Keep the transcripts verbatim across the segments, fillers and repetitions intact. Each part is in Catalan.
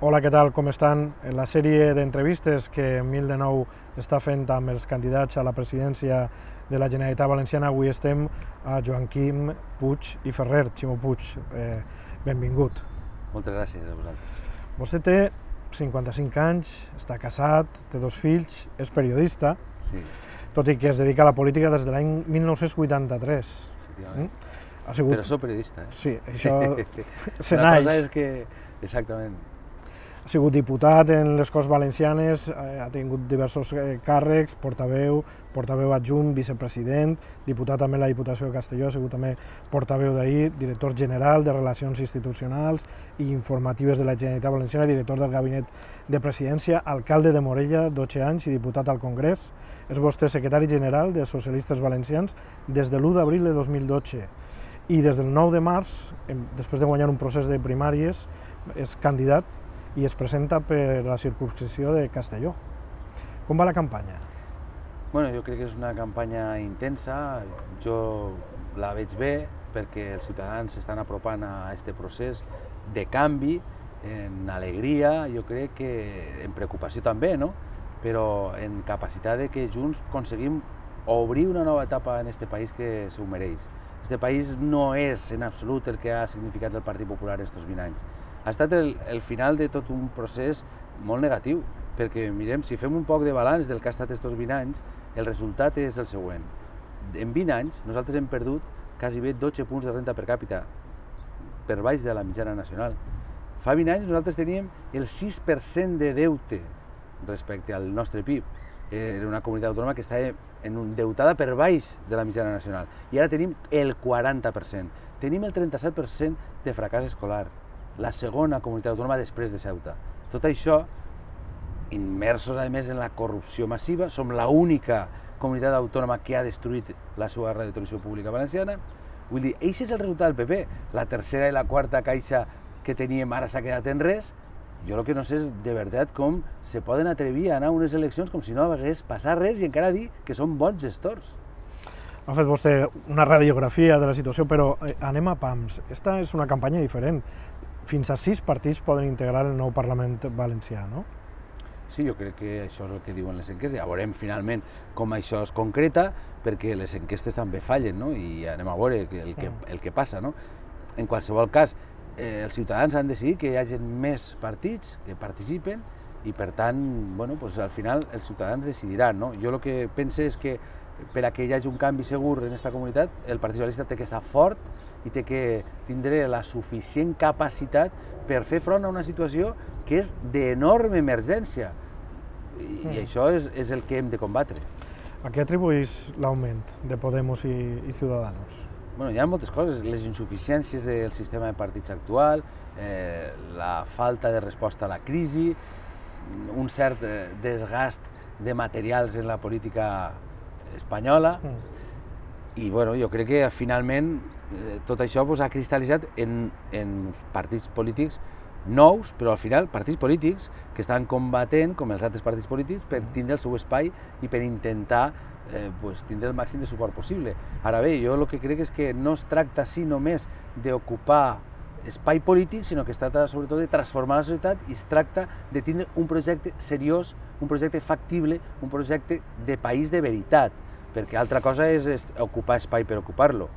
Hola, què tal, com estan? En la sèrie d'entrevistes que Mil de Nou està fent amb els candidats a la presidència de la Generalitat Valenciana, avui estem a Joaquim Puig i Ferrer. Ximo Puig, eh, benvingut. Moltes gràcies a vosaltres. Vostè té cinquanta-cinc anys, està casat, té dos fills, és periodista, Sí. tot i que es dedica a la política des de l'any mil nou-cents vuitanta-tres. Efectivament. Ha sigut... Però soc periodista, eh? Sí, això se Una naix. cosa és que... Exactament. Ha sigut diputat en les Corts Valencianes, eh, ha tingut diversos eh, càrrecs, portaveu, portaveu adjunt, vicepresident, diputat també a la Diputació de Castelló, ha sigut també portaveu d'ahir, director general de Relacions Institucionals i Informatives de la Generalitat Valenciana, director del Gabinet de Presidència, alcalde de Morella, dotze anys i diputat al Congrés. És vostè secretari general de Socialistes Valencians des de l'u d'abril de dos mil dotze i des del nou de març, després de guanyar un procés de primàries, és candidat i es presenta per la circumscripció de Castelló. Com va la campanya? Bueno, jo crec que és una campanya intensa, jo la veig bé perquè els ciutadans s'estan apropant a aquest procés de canvi, en alegria, jo crec que en preocupació també, no? Però en capacitat de que junts aconseguim obrir una nova etapa en aquest país que s'ho mereix. Este país no és en absolut el que ha significat el Partit Popular estos vint anys. Ha estat el, el final de tot un procés molt negatiu, perquè mirem, si fem un poc de balanç del que ha estat estos vint anys, el resultat és el següent. En vint anys nosaltres hem perdut quasi bé dotze punts de renda per càpita, per baix de la mitjana nacional. Fa vint anys nosaltres teníem el sis per cent de deute respecte al nostre P I B. Era una comunitat autònoma que estava endeutada per baix de la mitjana nacional. I ara tenim el quaranta per cent. Tenim el trenta-set per cent de fracàs escolar, la segona comunitat autònoma després de Ceuta. Tot això, immersos a més en la corrupció massiva, som l'única comunitat autònoma que ha destruït la seva radiotelevisió pública valenciana. Vull dir, això és el resultat del P P. La tercera i la quarta caixa que teníem ara s'ha quedat en res. Jo el que no sé és de veritat com se poden atrevir a anar a unes eleccions com si no hagués passat res i encara dir que són bons gestors. Ha fet vostè una radiografia de la situació, però eh, anem a pams. Esta és una campanya diferent. Fins a sis partits poden integrar el nou Parlament valencià, no? Sí, jo crec que això és el que diuen les enquestes. Ja veurem finalment com això es concreta, perquè les enquestes també fallen, no? I anem a veure el que, el que passa, no? En qualsevol cas, eh, els ciutadans han decidit que hi hagi més partits que participen i, per tant, bueno, pues, al final els ciutadans decidiran, no? Jo el que pense és que per a que hi hagi un canvi segur en aquesta comunitat, el Partit Socialista té que estar fort i té que tindre la suficient capacitat per fer front a una situació que és d'enorme emergència. I, i això és, és el que hem de combatre. A què atribueix l'augment de Podemos i, i Ciudadanos? Bueno, hi ha moltes coses, les insuficiències del sistema de partits actual, eh, la falta de resposta a la crisi, un cert eh, desgast de materials en la política espanyola, mm. i bueno, jo crec que finalment eh, tot això pues, ha cristal·litzat en, en partits polítics nous, però al final partits polítics que estan combatent, com els altres partits polítics, per tindre el seu espai i per intentar eh, pues, tindre el màxim de suport possible. Ara bé, jo el que crec és que no es tracta així només d'ocupar espai polític, sinó que es tracta sobretot de transformar la societat i es tracta de tindre un projecte seriós, un projecte factible, un projecte de país de veritat, perquè altra cosa és, és ocupar espai per ocupar-lo.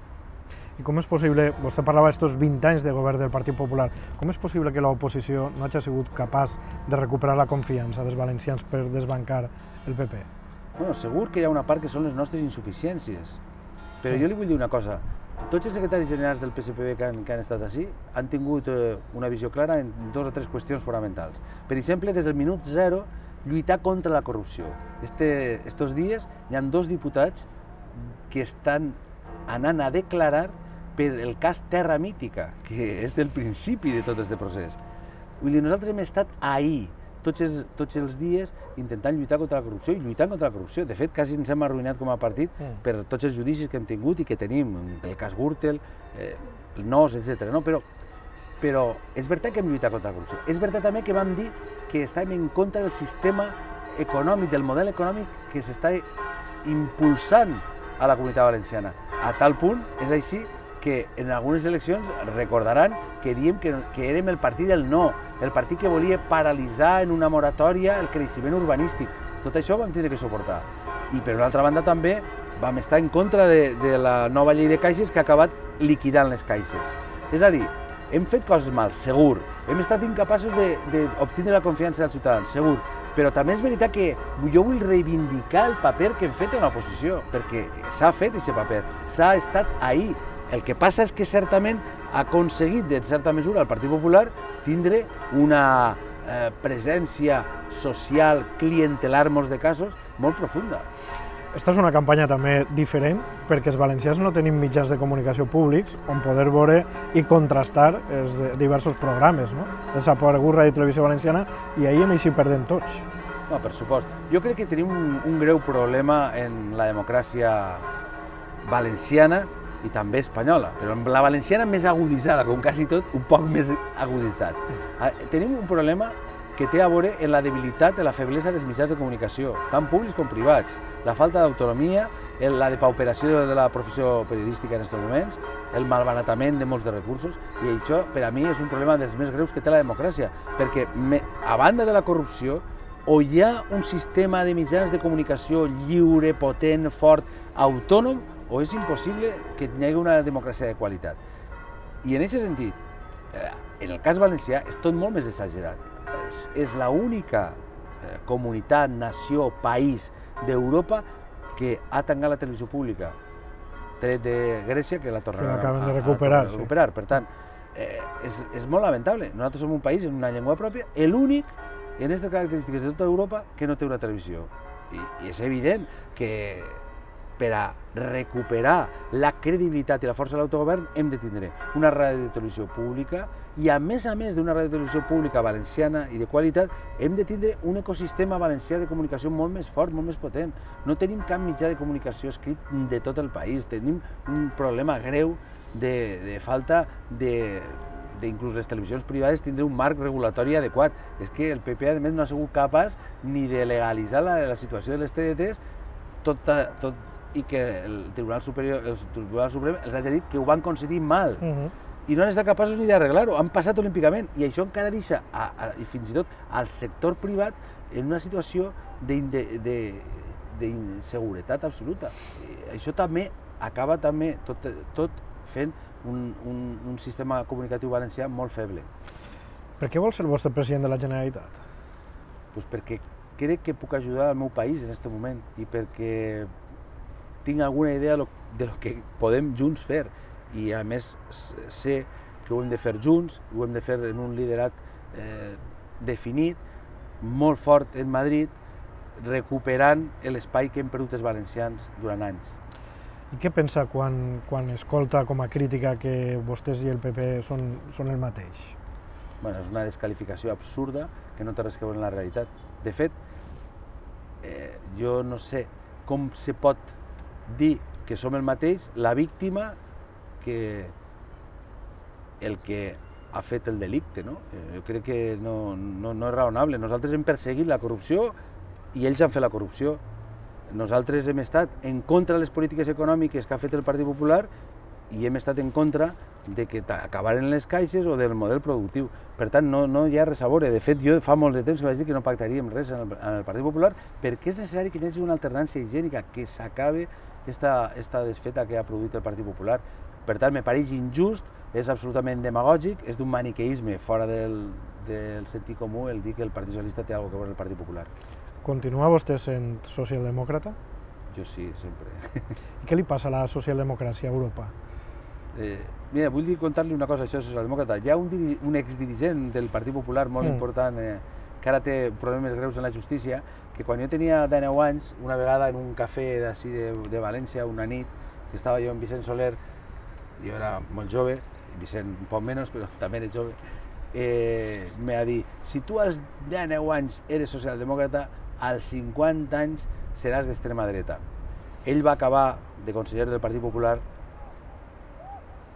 I com és possible, vostè parlava d'estos vint anys de govern del Partit Popular, com és possible que l'oposició no hagi sigut capaç de recuperar la confiança dels valencians per desbancar el P P? Bueno, segur que hi ha una part que són les nostres insuficiències, però jo li vull dir una cosa. Tots els secretaris generals del P S P B que han, que han estat així han tingut eh, una visió clara en dues o tres qüestions fonamentals. Per exemple, des del minut zero, lluitar contra la corrupció. Este, estos dies hi ha dos diputats que estan anant a declarar per el cas Terra Mítica, que és del principi de tot aquest procés. Vull dir, nosaltres hem estat ahí, tots els, tots els dies, intentant lluitar contra la corrupció i lluitant contra la corrupció. De fet, quasi ens hem arruïnat com a partit mm. per tots els judicis que hem tingut i que tenim, el cas Gürtel, eh, el N O S, etcètera. No? Però, però és veritat que hem lluitat contra la corrupció. És veritat també que vam dir que estàvem en contra del sistema econòmic, del model econòmic que s'està impulsant a la Comunitat Valenciana. A tal punt, és així, que que en algunes eleccions recordaran que diem que, que érem el partit del no, el partit que volia paralitzar en una moratòria el creixement urbanístic. Tot això ho vam tindre que suportar. I per una altra banda també vam estar en contra de, de la nova llei de caixes que ha acabat liquidant les caixes. És a dir, hem fet coses mal, segur. Hem estat incapaços d'obtenir la confiança dels ciutadans, segur. Però també és veritat que jo vull reivindicar el paper que hem fet en l'oposició, perquè s'ha fet aquest paper, s'ha estat ahí. El que passa és que certament ha aconseguit, en certa mesura, el Partit Popular tindre una eh, presència social, clientelar, en molts de casos, molt profunda. Esta és una campanya també diferent perquè els valencians no tenim mitjans de comunicació públics on poder veure i contrastar els diversos programes. No? Desaparegut Ràdio i Televisió Valenciana i ahir hem eixit perdent tots. No, per supost. Jo crec que tenim un, un greu problema en la democràcia valenciana i també espanyola, però en la valenciana més aguditzada, com quasi tot, un poc més aguditzat. Tenim un problema que té a veure en la debilitat, en la feblesa dels mitjans de comunicació, tant públics com privats, la falta d'autonomia, la depauperació de la professió periodística en aquests moments, el malbaratament de molts de recursos, i això per a mi és un problema dels més greus que té la democràcia, perquè a banda de la corrupció, o hi ha un sistema de mitjans de comunicació lliure, potent, fort, autònom, o és impossible que hi hagi una democràcia de qualitat. I en aquest sentit, en el cas valencià, és tot molt més exagerat. És l'única comunitat, nació, país d'Europa que ha tancat la televisió pública, tret de Grècia, que la tornaran a recuperar. Per tant, és molt lamentable. Nosaltres som un país amb una llengua pròpia, l'únic en aquestes característiques de tota Europa que no té una televisió. I és evident que per a recuperar la credibilitat i la força de l'autogovern hem de tindre una ràdio de televisió pública i, a més a més d'una ràdio de televisió pública valenciana i de qualitat, hem de tindre un ecosistema valencià de comunicació molt més fort, molt més potent. No tenim cap mitjà de comunicació escrit de tot el país, tenim un problema greu de falta de inclús les televisions privades tindre un marc regulatori adequat. És que el P P, a més, no ha sigut capaç ni de legalitzar la situació de les T D Ts, tot i que el Tribunal Superior, el Tribunal Suprem els hagi dit que ho van concedir mal i no han estat capaços ni d'arreglar-ho, han passat olímpicament i això encara deixa, i fins i tot al sector privat, en una situació d'inseguretat absoluta. Això també acaba també tot fent un sistema comunicatiu valencià molt feble. Per què vol ser vostre president de la Generalitat? Doncs perquè crec que puc ajudar al meu país en aquest moment i perquè tinc alguna idea de lo que podem junts fer i a més sé que ho hem de fer junts, ho hem de fer en un liderat definit, molt fort en Madrid, recuperant l'espai que hem perdut els valencians durant anys. I què pensa quan escolta com a crítica que vostès i el P P són el mateix? És una desqualificació absurda que no té res a veure amb la realitat. De fet, jo no sé com se pot dir que som el mateix la víctima que el que ha fet el delicte. Jo crec que no és raonable. Nosaltres hem perseguit la corrupció i ells han fet la corrupció. Nosaltres hem estat en contra de les polítiques econòmiques que ha fet el Partit Popular i hem estat en contra de que acabaren les caixes o del model productiu. Per tant, no hi ha res a veure. De fet, jo fa molt de temps que vaig dir que no pactaríem res en el Partit Popular perquè és necessari que hi hagi una alternància higiènica, que s'acabi aquesta desfeta que ha produït el Partit Popular. Per tant, me pareix injust, és absolutament demagògic, és d'un maniqueisme fora del sentit comú el dir que el Partit Socialista té alguna cosa a veure amb el Partit Popular. Continua vostè sent socialdemòcrata? Jo sí, sempre. I què li passa a la socialdemocràcia a Europa? Mira, vull contar-li una cosa, això és socialdemòcrata. Hi ha un exdirigent del Partit Popular molt important que ara té problemes greus en la justícia, que quan jo tenia dinou anys, una vegada en un cafè d'ací de València, una nit, que estava jo amb Vicent Soler, jo era molt jove, Vicent un poc menys, però també era jove, m'ha dit, si tu als dinou anys eres socialdemòcrata, als cinquanta anys seràs d'extrema dreta. Ell va acabar de conseller del Partit Popular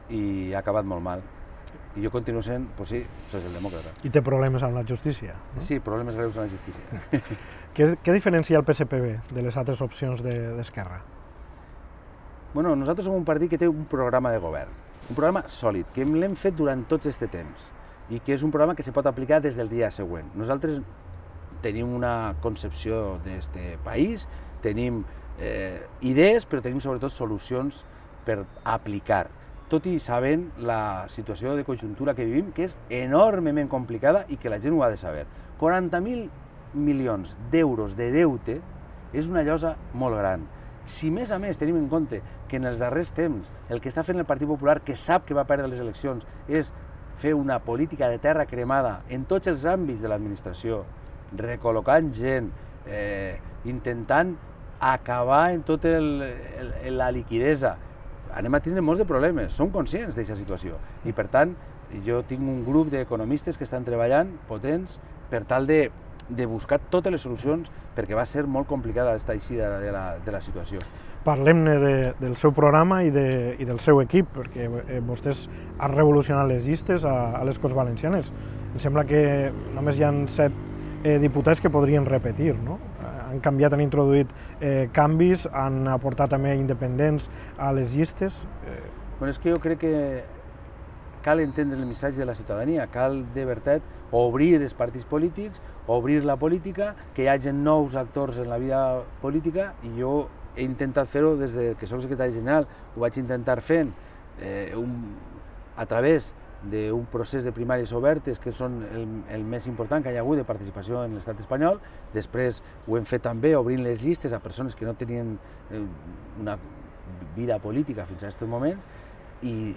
i ha acabat molt mal. I jo continuo sent, doncs sí, socialdemòcrata. I té problemes amb la justícia? Sí, problemes greus amb la justícia. Què diferencia el P S P B de les altres opcions d'Esquerra? Bueno, nosaltres som un partit que té un programa de govern. un programa sòlid, que l'hem fet durant tot aquest temps i que és un programa que se pot aplicar des del dia següent. Nosaltres tenim una concepció d'aquest país, tenim eh, idees, però tenim sobretot solucions per aplicar, tot i sabent la situació de conjuntura que vivim, que és enormement complicada i que la gent ho ha de saber. quaranta mil milions d'euros de deute és una llosa molt gran. Si més a més tenim en compte que en els darrers temps el que està fent el Partit Popular, que sap que va perdre les eleccions, és fer una política de terra cremada en tots els àmbits de l'administració, recol·locant gent, eh, intentant acabar en tota la liquidesa, anem a tindre molts de problemes, som conscients d'aquesta situació i per tant jo tinc un grup d'economistes que estan treballant potents per tal de, de buscar totes les solucions perquè va ser molt complicada aquesta eixida de la, de la situació. Parlem-ne de, del seu programa i, de, i del seu equip, perquè eh, vostès han revolucionat les llistes a, a les Corts Valencianes. Em sembla que només hi ha set eh, diputats que podrien repetir, no? Han canviat, han introduït eh, canvis, han aportat també independents a les llistes. Eh... Bueno, és que jo crec que cal entendre el missatge de la ciutadania, cal de veritat obrir els partits polítics, obrir la política, que hi hagi nous actors en la vida política i jo he intentat fer-ho des que soc secretari general, ho vaig intentar fent eh, un, a través d'un procés de primàries obertes que són el, el més important que hi ha hagut de participació en l'estat espanyol. Després ho hem fet també obrint les llistes a persones que no tenien eh, una vida política fins a aquest moment i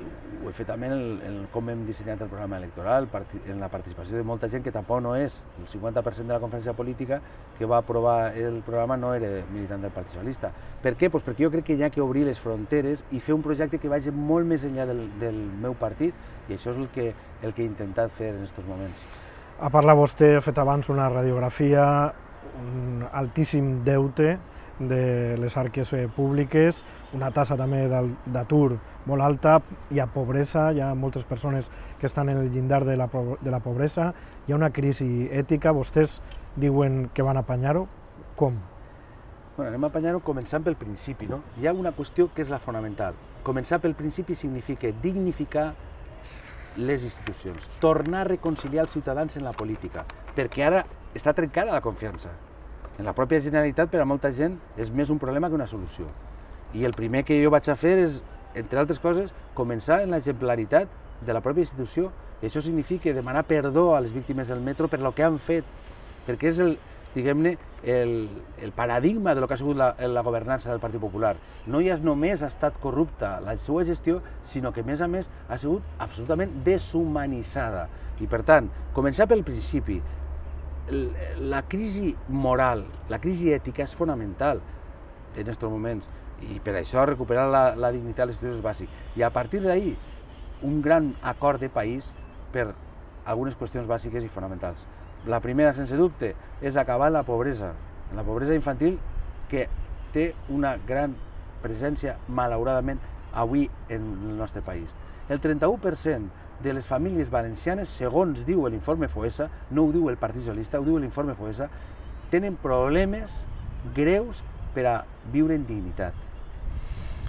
ho he fet també en, el, en com hem dissenyat el programa electoral, en la participació de molta gent que tampoc no és, el cinquanta per cent de la conferència política que va aprovar el programa no era militant del Partit Socialista. Per què? Pues perquè jo crec que hi ha que obrir les fronteres i fer un projecte que vagi molt més enllà del, del meu partit i això és el que, el que he intentat fer en aquests moments. Ha parlat vostè, ha fet abans una radiografia, un altíssim deute de les arques públiques, una tassa també d'atur molt alta, hi ha pobresa, hi ha moltes persones que estan en el llindar de la, de la pobresa, hi ha una crisi ètica, vostès diuen que van apanyar-ho, com? Bueno, anem a apanyar-ho començant pel principi, no? Hi ha una qüestió que és la fonamental. Començar pel principi significa dignificar les institucions, tornar a reconciliar els ciutadans en la política, perquè ara està trencada la confiança. En la pròpia Generalitat, per a molta gent, és més un problema que una solució. I el primer que jo vaig a fer és, entre altres coses, començar en l'exemplaritat de la pròpia institució. I això significa demanar perdó a les víctimes del metro per el que han fet, perquè és el, diguem-ne, el, el paradigma de lo que ha sigut la, la governança del Partit Popular. No ja només ha estat corrupta la seva gestió, sinó que, a més a més, ha sigut absolutament deshumanitzada. I, per tant, començar pel principi. La crisi moral, la crisi ètica és fonamental en aquests moments i per això recuperar la, la dignitat de les institucions és bàsic. I a partir d'ahir, un gran acord de país per algunes qüestions bàsiques i fonamentals. La primera, sense dubte, és acabar la pobresa, la pobresa infantil que té una gran presència, malauradament, avui en el nostre país. El trenta-u per cent de les famílies valencianes, segons diu l'informe FOESA, no ho diu el Partit Socialista, ho diu l'informe FOESA, tenen problemes greus per a viure en dignitat.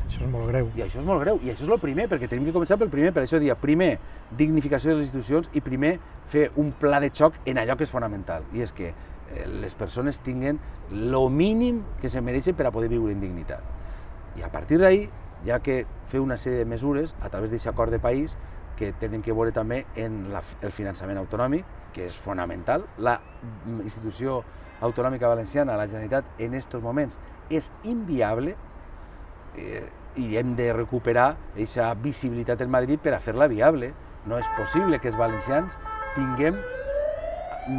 Això és molt greu. I això és molt greu, i això és el primer, perquè tenim que començar pel primer, per això dia, primer, dignificació de les institucions i primer, fer un pla de xoc en allò que és fonamental, i és que les persones tinguen el mínim que se mereixen per a poder viure en dignitat. I a partir d'ahir, hi ha que fer una sèrie de mesures a través d'aquest acord de país que tenen que veure també en la, el finançament autonòmic, que és fonamental. La institució autonòmica valenciana, la Generalitat, en aquests moments és inviable eh, i hem de recuperar aquesta visibilitat en Madrid per a fer-la viable. No és possible que els valencians tinguem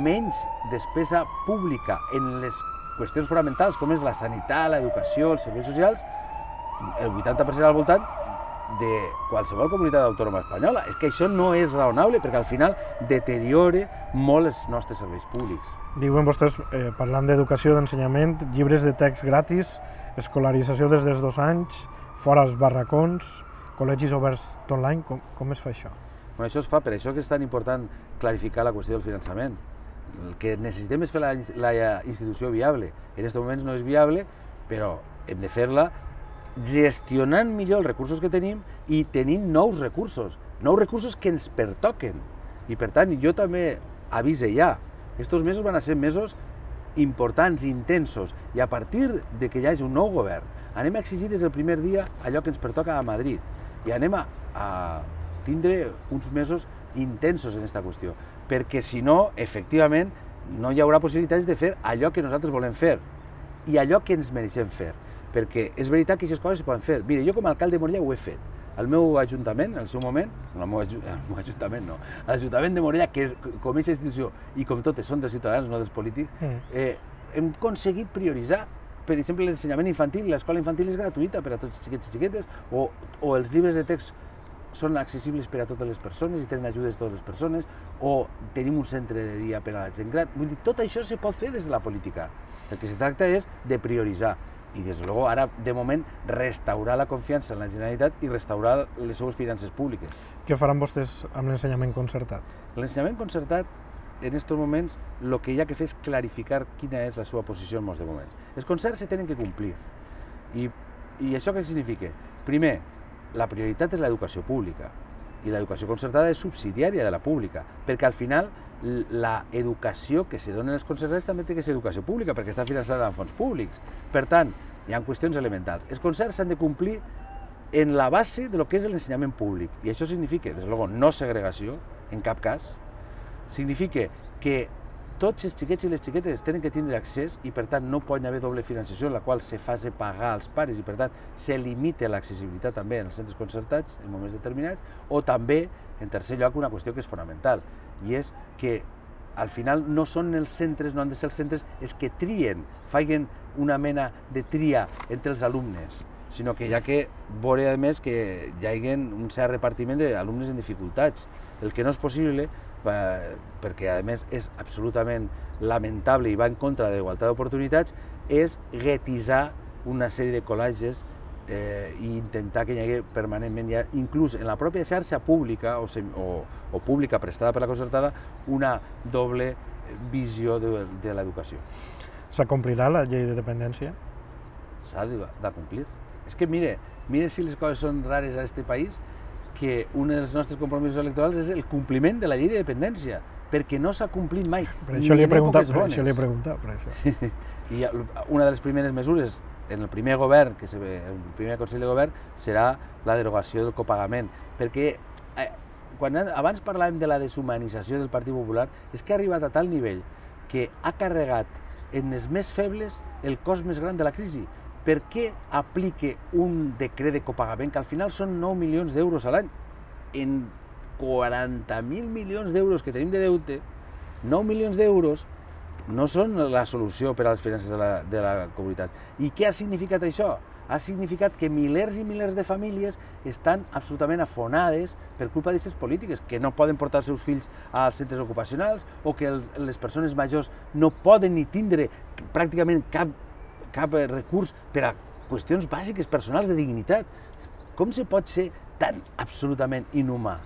menys despesa pública en les qüestions fonamentals com és la sanitat, l'educació, els serveis socials, el vuitanta per cent al voltant de qualsevol comunitat autònoma espanyola. És que això no és raonable perquè al final deteriora molt els nostres serveis públics. Diuen vostès, eh, parlant d'educació, d'ensenyament, llibres de text gratis, escolarització des dels dos anys, fora els barracons, col·legis oberts online, com, com es fa això? Bueno, això es fa, per això que és tan important clarificar la qüestió del finançament. El que necessitem és fer la, la institució viable. En aquests moments no és viable, però hem de fer-la gestionant millor els recursos que tenim i tenint nous recursos, nous recursos que ens pertoquen. I per tant, jo també avise ja, estos mesos van a ser mesos importants, intensos, i a partir de que hi hagi un nou govern, anem a exigir des del primer dia allò que ens pertoca a Madrid i anem a, a tindre uns mesos intensos en aquesta qüestió, perquè si no, efectivament, no hi haurà possibilitats de fer allò que nosaltres volem fer i allò que ens mereixem fer, perquè és veritat que aquestes coses es poden fer. Mira, jo com a alcalde de Morella ho he fet. El meu ajuntament, en el seu moment, no, el meu, el meu ajuntament no, l'Ajuntament de Morella, que és, com aquesta institució i com totes són dels ciutadans, no dels polítics, eh, hem aconseguit prioritzar, per exemple, l'ensenyament infantil. L'escola infantil és gratuïta per a tots els xiquets i xiquetes, o, o els llibres de text són accessibles per a totes les persones i tenen ajudes a totes les persones, o tenim un centre de dia per a la gent gran. Vull dir, tot això se pot fer des de la política. El que se tracta és de prioritzar. I, des de luego, ara, de moment, restaurar la confiança en la Generalitat i restaurar les seues finances públiques. Què faran vostès amb l'ensenyament concertat? L'ensenyament concertat, en aquests moments, el que hi ha que fer és clarificar quina és la seva posició en molts de moments. Els concerts se tenen que complir. I, i això què significa? Primer, la prioritat és l'educació pública i l'educació concertada és subsidiària de la pública, perquè al final l'educació que se dona en els concertats també té que ser educació pública, perquè està finançada amb fons públics. Per tant, hi ha qüestions elementals. Els concerts s'han de complir en la base de lo que és l'ensenyament públic, i això significa, des de luego, no segregació, en cap cas, significa que tots els xiquets i les xiquetes tenen que tindre accés i per tant no pot haver doble financiació en la qual se faci pagar als pares i per tant se limita l'accessibilitat també en els centres concertats en moments determinats, o també, en tercer lloc, una qüestió que és fonamental i és que al final no són els centres, no han de ser els centres els que trien, facin una mena de tria entre els alumnes, sinó que hi ha que veure a més que hi hagi un cert repartiment d'alumnes en dificultats, el que no és possible perquè a més és absolutament lamentable i va en contra de la igualtat d'oportunitats, és guetitzar una sèrie de col·legis eh, i intentar que hi hagi permanentment, ja, inclús en la pròpia xarxa pública o, o, o pública prestada per la concertada, una doble visió de, de l'educació. S'acomplirà la llei de dependència? S'ha de, de complir. És que mire, mire si les coses són rares a aquest país, que un dels nostres compromisos electorals és el compliment de la llei de dependència, perquè no s'ha complit mai. Per això li he preguntat, per això li he preguntat, per això. I una de les primeres mesures en el primer govern, que se ve, el primer Consell de Govern, serà la derogació del copagament, perquè eh, quan abans parlàvem de la deshumanització del Partit Popular, és que ha arribat a tal nivell que ha carregat en els més febles el cost més gran de la crisi. Per què aplique un decret de copagament que al final són nou milions d'euros a l'any? En quaranta mil milions d'euros que tenim de deute, nou milions d'euros no són la solució per a les finances de la, de la comunitat. I què ha significat això? Ha significat que milers i milers de famílies estan absolutament afonades per culpa d'aquestes polítiques, que no poden portar els seus fills als centres ocupacionals o que el, les persones majors no poden ni tindre pràcticament cap cap recurs per a qüestions bàsiques personals de dignitat. Com se pot ser tan absolutament inhumà?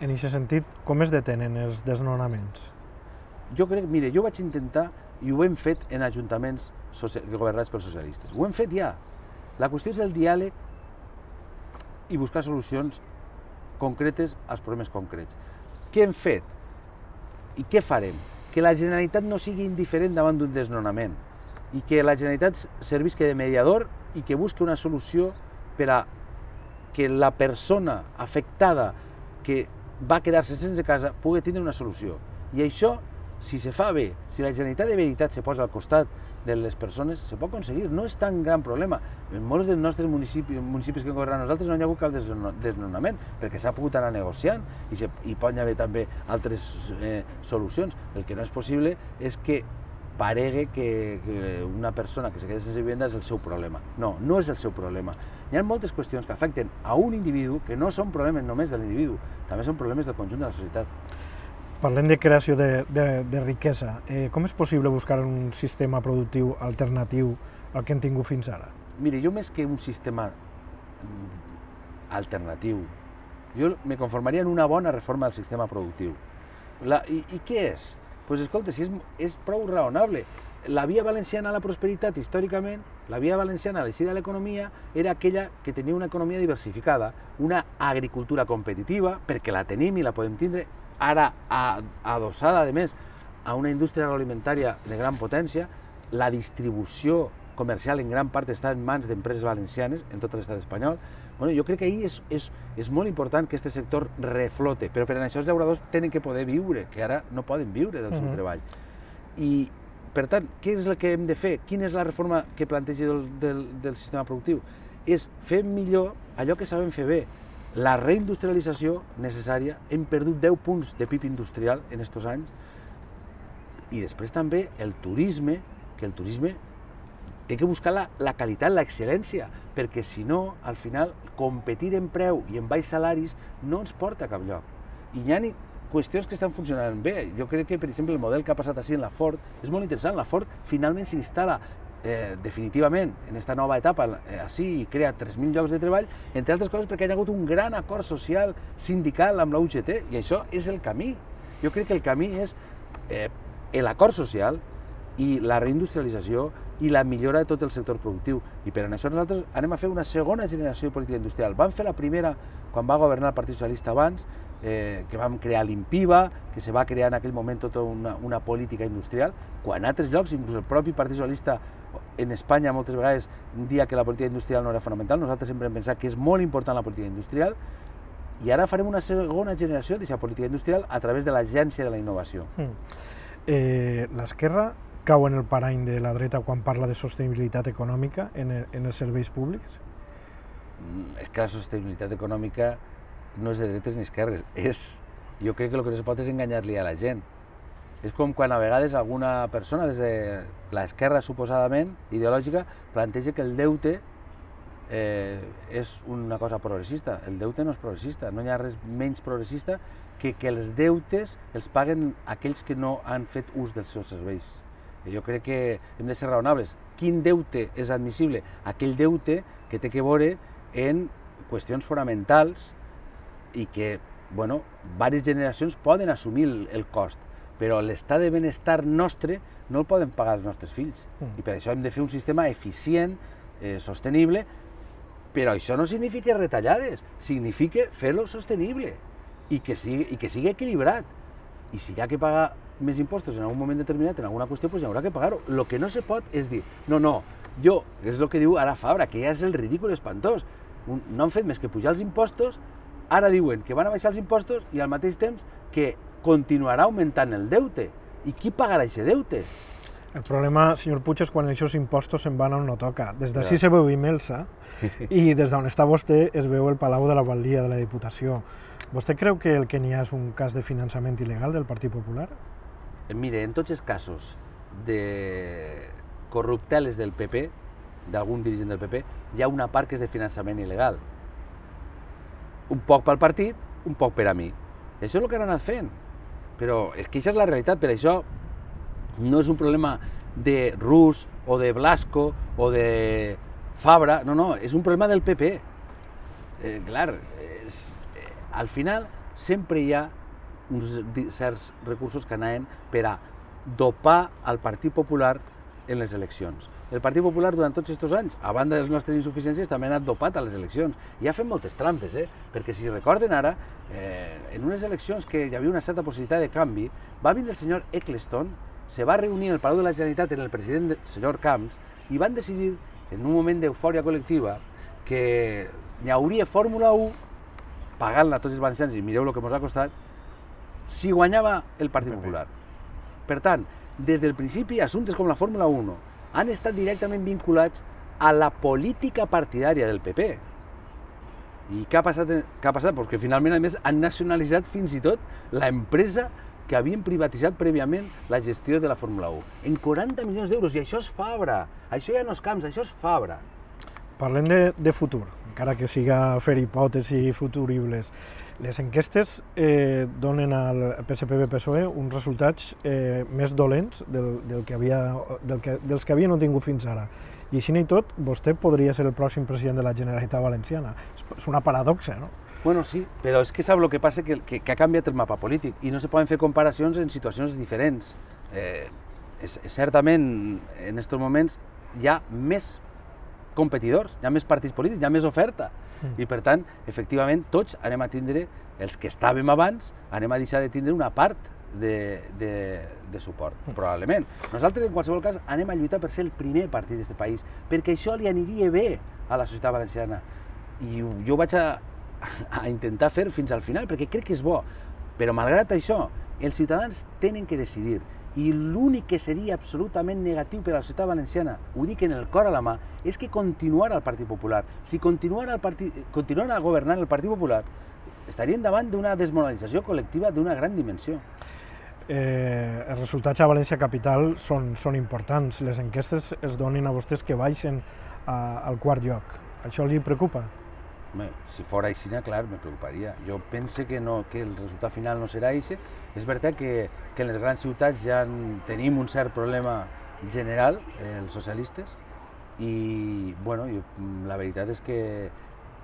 En aquest sentit, com es detenen els desnonaments? Jo crec, mire, jo vaig intentar, i ho hem fet en ajuntaments governats pels socialistes. Ho hem fet ja. La qüestió és el diàleg i buscar solucions concretes als problemes concrets. Què hem fet? I què farem? Que la Generalitat no sigui indiferent davant d'un desnonament, i que la Generalitat servisca de mediador i que busqui una solució per a que la persona afectada que va quedar-se sense casa pugui tindre una solució. I això, si se fa bé, si la Generalitat de veritat se posa al costat de les persones, se pot aconseguir. No és tan gran problema. En molts dels nostres municipis, municipis que governen nosaltres no hi ha hagut cap desnonament, perquè s'ha pogut anar negociant i, se, i pot haver també altres eh, solucions. El que no és possible és que paregue que, que una persona que se queda sense vivenda és el seu problema. No, no és el seu problema. Hi ha moltes qüestions que afecten a un individu que no són problemes només de l'individu, també són problemes del conjunt de la societat. Parlem de creació de, de, de riquesa. Eh, com és possible buscar un sistema productiu alternatiu al que hem tingut fins ara? Mire, jo més que un sistema alternatiu, jo me conformaria en una bona reforma del sistema productiu. La, i, I què és? Doncs escolta, si és, és prou raonable. La via valenciana a la prosperitat, històricament, La via valenciana, l'eixida de l'economia, era aquella que tenia una economia diversificada, una agricultura competitiva, perquè la tenim i la podem tindre, ara adossada, a més, a una indústria agroalimentària de gran potència. La distribució comercial en gran part està en mans d'empreses valencianes, en tot l'estat espanyol. Bueno, jo crec que ahir és, és, és molt important que aquest sector reflote, però per això els llauradors tenen que poder viure, que ara no poden viure del seu treball. I, per tant, què és el que hem de fer? Quina és la reforma que planteja del, del, del sistema productiu? És fer millor allò que sabem fer bé. La reindustrialització necessària, hem perdut deu punts de P I B industrial en aquests anys, i després també el turisme, que el turisme té que buscar la, la qualitat, l'excel·lència, perquè si no, al final, competir en preu i en baix salaris no ens porta a cap lloc. I hi ha qüestions que estan funcionant bé. Jo crec que, per exemple, el model que ha passat així en la Ford és molt interessant. La Ford finalment s'instal·la eh, definitivament en aquesta nova etapa eh, així i crea tres mil llocs de treball, entre altres coses perquè hi ha hagut un gran acord social sindical amb la U G T, i això és el camí. Jo crec que el camí és eh, l'acord social i la reindustrialització i la millora de tot el sector productiu. I per això nosaltres anem a fer una segona generació de política industrial. Vam fer la primera quan va governar el Partit Socialista abans, eh, que vam crear l'INPIVA, que se va crear en aquell moment tota una, una política industrial, quan a altres llocs, inclús el propi Partit Socialista en Espanya moltes vegades dia que la política industrial no era fonamental, nosaltres sempre hem pensat que és molt important la política industrial, i ara farem una segona generació d'aquesta política industrial a través de l'Agència de la Innovació. Mm. Eh, L'esquerra cau en el parany de la dreta quan parla de sostenibilitat econòmica en, el, en els serveis públics? Mm, és que la sostenibilitat econòmica no és de dretes ni esquerres, és... Jo crec que el que no es pot és enganyar-li a la gent. És com quan a vegades alguna persona, des de l'esquerra suposadament, ideològica, planteja que el deute eh, és una cosa progressista. El deute no és progressista, no hi ha res menys progressista que que els deutes els paguen aquells que no han fet ús dels seus serveis. Jo crec que hem de ser raonables. Quin deute és admissible? Aquell deute que té que veure en qüestions fonamentals i que, bueno, diverses generacions poden assumir el, el cost, però l'estat de benestar nostre no el poden pagar els nostres fills. Mm. I per això hem de fer un sistema eficient, eh, sostenible, però això no significa retallades, significa fer-lo sostenible i que sigui, i que sigui equilibrat. I si hi ha que pagar més impostos en algun moment determinat, en alguna qüestió, doncs hi haurà que pagar-ho. El que no se pot és dir, no, no, jo, que és el que diu ara Fabra, que ja és el ridícul espantós, no han fet més que pujar els impostos, ara diuen que van a baixar els impostos i al mateix temps que continuarà augmentant el deute. I qui pagarà aquest deute? El problema, senyor Puig, és quan aquests impostos se'n van on no toca. Des d'ací se veu Imelsa i des d'on està vostè es veu el Palau de la Batllia de la Diputació. Vostè creu que el que n'hi ha és un cas de finançament il·legal del Partit Popular? Mire, en tots els casos de corrupteles del P P, d'algun dirigent del P P, hi ha una part que és de finançament il·legal. Un poc pel partit, un poc per a mi. I això és el que han anat fent. Però és que això és la realitat, per això no és un problema de Rus o de Blasco o de Fabra, no, no, és un problema del P P. Eh, clar, és, eh, al final sempre hi ha uns certs recursos que anaven per a dopar al Partit Popular en les eleccions. El Partit Popular durant tots aquests anys, a banda de les nostres insuficiències, també ha anat dopat a les eleccions. I ha fet moltes trampes, eh? Perquè si recorden ara, eh, en unes eleccions que hi havia una certa possibilitat de canvi, va vindre el senyor Eccleston, se va reunir en el Palau de la Generalitat amb el president, el senyor Camps, i van decidir, en un moment d'eufòria col·lectiva, que hi hauria Fórmula u, pagant-la a tots els valencians, i mireu el que ens ha costat, si guanyava el Partit Popular. Per tant, des del principi, assumptes com la Fórmula u han estat directament vinculats a la política partidària del P P. I què ha passat? Què ha passat? Pues que finalment, a més, han nacionalitzat fins i tot l'empresa que havien privatitzat prèviament la gestió de la Fórmula u. En quaranta milions d'euros, i això és Fabra. Això ja no és Camps, això és Fabra. Parlem de, de futur, encara que siga fer hipòtesis futuribles. Les enquestes eh, donen al P S P B P S O E uns resultats eh, més dolents del, del que havia, del que, dels que havien obtingut fins ara. I així i tot, vostè podria ser el pròxim president de la Generalitat Valenciana. És una paradoxa, no? Bueno, sí, però és que sap el que passa? Que, que, que ha canviat el mapa polític i no se poden fer comparacions en situacions diferents. Eh, és, certament, en aquests moments hi ha més competidors, hi ha més partits polítics, hi ha més oferta. I per tant, efectivament, tots anem a tindre, els que estàvem abans, anem a deixar de tindre una part de, de, de suport, probablement. Nosaltres, en qualsevol cas, anem a lluitar per ser el primer partit d'aquest país, perquè això li aniria bé a la societat valenciana. I jo vaig a, a intentar fer fins al final, perquè crec que és bo. Però, malgrat això, els ciutadans tenen que decidir. I l'únic que seria absolutament negatiu per a la societat valenciana, ho dic en el cor a la mà, és que continuara el Partit Popular. Si continuara, el partit, continuara governant el Partit Popular, estaríem davant d'una desmoralització col·lectiva d'una gran dimensió. Eh, els resultats a València Capital són, són importants. Les enquestes es donen a vostès que baixen a, al quart lloc. Això li preocupa? Bé, si fora així, clar, me preocuparia. Jo pense que, no, que el resultat final no serà així. És veritat que, que en les grans ciutats ja tenim un cert problema general, eh, els socialistes, i bueno, jo, la veritat és que,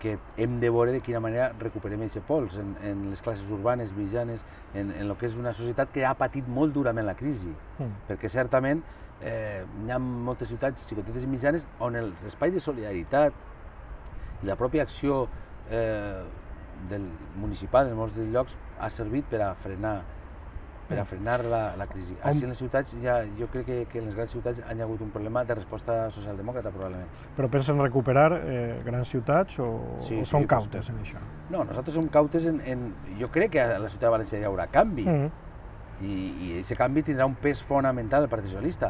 que hem de veure de quina manera recuperem aquest pols en, en les classes urbanes, mitjanes, en, en el que és una societat que ha patit molt durament la crisi. Mm. Perquè certament eh, hi ha moltes ciutats xicotetes i mitjanes on els espais de solidaritat i la pròpia acció eh, del municipal en molts dels llocs ha servit per a frenar, per a frenar la, la crisi. Així en les ciutats, ja, jo crec que, que en les grans ciutats hi ha hagut un problema de resposta socialdemòcrata, probablement. Però pensen recuperar eh, grans ciutats o, sí, o són sí, cautes en això? No, nosaltres som cautes en, en... Jo crec que a la ciutat de València hi haurà canvi, mm -hmm. i aquest canvi tindrà un pes fonamental al Partit Socialista.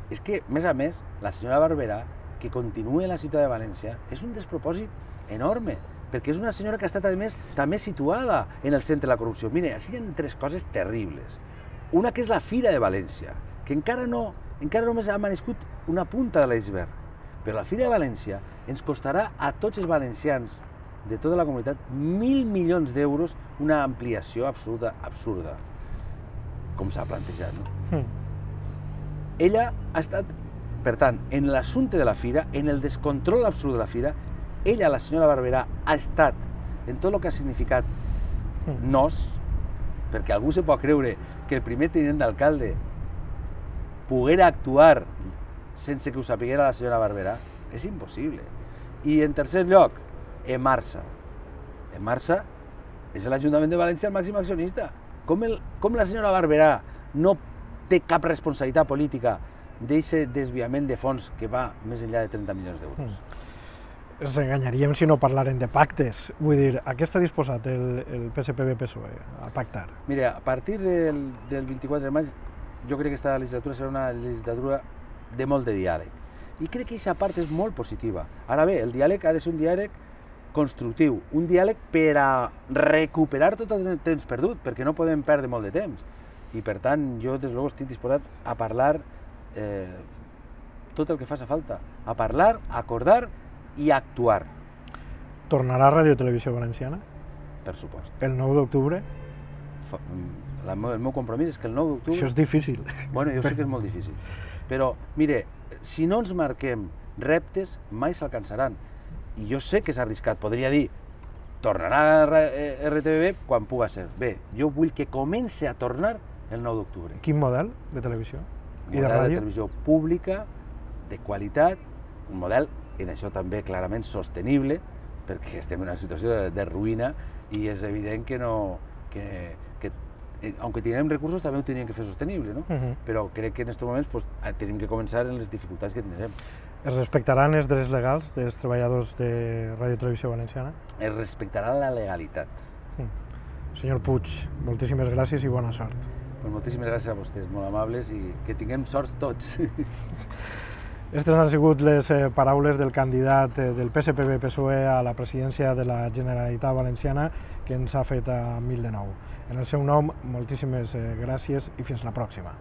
És que, més a més, la senyora Barberà, que continuï a la ciutat de València, és un despropòsit enorme, perquè és una senyora que ha estat, a més, també situada en el centre de la corrupció. Mire, així hi ha tres coses terribles. Una que és la Fira de València, que encara no, encara només ha manescut una punta de l'iceberg, però la Fira de València ens costarà a tots els valencians de tota la comunitat mil milions d'euros, una ampliació absoluta absurda, com s'ha plantejat, no? Mm. Ella ha estat, per tant, en l'assumpte de la Fira, en el descontrol absolut de la Fira, ella, la senyora Barberà, ha estat en tot el que ha significat nos, perquè algú se pot creure que el primer tinent d'alcalde poguera actuar sense que ho sapiguera la senyora Barberà. És impossible. I en tercer lloc, Emarsa. Emarsa és l'Ajuntament de València el màxim accionista. Com, el, com la senyora Barberà no té cap responsabilitat política d'aquest desviament de fons que va més enllà de trenta milions d'euros? Mm. Ens enganyaríem si no parlaren de pactes. Vull dir, a què està disposat el, el P S P B P S O E a pactar? Mira, a partir del, del vint-i-quatre de maig, jo crec que aquesta legislatura serà una legislatura de molt de diàleg. I crec que aquesta part és molt positiva. Ara bé, el diàleg ha de ser un diàleg constructiu, un diàleg per a recuperar tot el temps perdut, perquè no podem perdre molt de temps. I per tant, jo des de luego estic disposat a parlar eh, tot el que faci falta, a parlar, a acordar i a actuar. Tornarà a Ràdio Televisió Valenciana? Per supost. El nou d'octubre? El meu compromís és que el nou d'octubre... Això és difícil. Bueno, jo sé que és molt difícil. Però, mire, si no ens marquem reptes, mai s'alcançaran. I jo sé que és arriscat. Podria dir, tornarà a R T V B quan puga ser. Bé, jo vull que comenci a tornar el nou d'octubre. Quin model de televisió? Un model de televisió pública, de qualitat, un model, en això també clarament sostenible, perquè estem en una situació de, de ruïna i és evident que no... Que, que, aunque tinguem recursos, també ho tenim que fer sostenible, no? Uh-huh. Però crec que en aquests moments pues, tenim que començar en les dificultats que tindrem. Es respectaran els drets legals dels treballadors de Ràdio Televisió Valenciana? Es respectarà la legalitat. Uh. Senyor Puig, moltíssimes gràcies i bona sort. Pues moltíssimes gràcies a vostès, molt amables, i que tinguem sort tots. Aquestes han sigut les eh, paraules del candidat eh, del P S P B P S O E a la presidència de la Generalitat Valenciana que ens ha fet a mil de nou. En el seu nom, moltíssimes eh, gràcies i fins la pròxima.